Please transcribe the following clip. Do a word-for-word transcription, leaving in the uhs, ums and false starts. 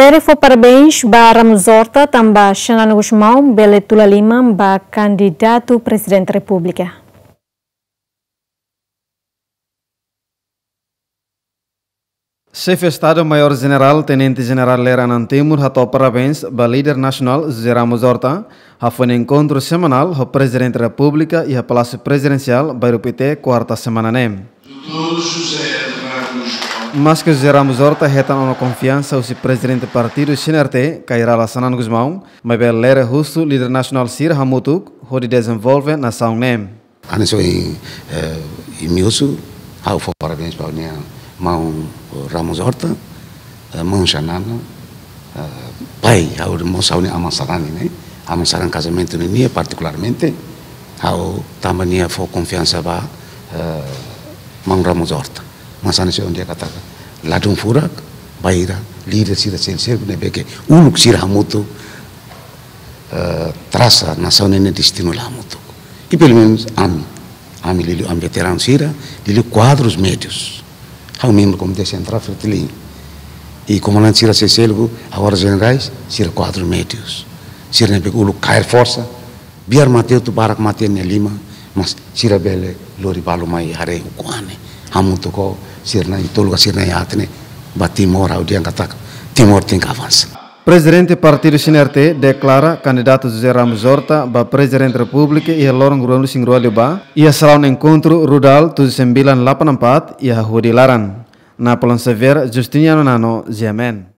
Ere fó parabéns ba Ramos Horta tanba Xanana Gusmão bele tula liman ba kandidatu Prezidente Repúblika. Xefe Estadu Maiór Jenerál Tenente Jenerál Lere Anan Timur hato'o parabéns ba líder nasionál José Ramos Horta, hafoin enkontru semanál ho Prezidente Repúblika iha Palásiu Prezidensiál, Bairru Pité, kuarta semana ne'e. Maske José Ramos Horta hetan ona konfiansa husi Prezidente Partidu C N R T, Kay Rala Xanana Gusmão, maibé Lere husu líder nasionál sira hamutuk hodi dezenvolve nasaun ne'e. Hanesan ohin, eh, imi husu, ha'u fó parabéns ba nia maun Ramos Horta, eh, maun Xanana, eh, pai, ha'u mós ha'u-nia aman sarani ne'e, aman sarani kazamentu nian partikularmente, ha'u tanba nia fó konfiansa ba, eh, maun Ramos Horta. Mas hanesan ohin dehan katak, ladún furak, bainhira líder sira sel-sel ne'ebé ke uluk sira hamutuk, eh, trasa nasaun ne'e nia destinu la hamutuk. I pelumenus ami, ami liuliu ami veteranu sira, liuliu kuadrus médius. Ha'u membru Komité Sentrál Fretilin. I komandante sira sel-seluk, agora jenerais, sira kuadrus médius. Sira ne'ebé uluk kaer forsa, biar mate hotu barak mate nia liman, mas sira bele lori balu mai haree ukun-an ne'e. Hamutuk ho sira na'in-tolu ka sira na'in-haat ne'e, ba Timor ha'u dehan katak, Timor tenke avansa. Prezidente Partidu C N R T deklara kandidatu José Ramos Horta ba Prezidente Repúblika iha loron rua-nulu-resin-rua liubá, iha salaun enkontru Rudal tujuh sembilan delapan empat, iha Hudi laran. Napoleon Xavier, Justiniano Nano, G M N.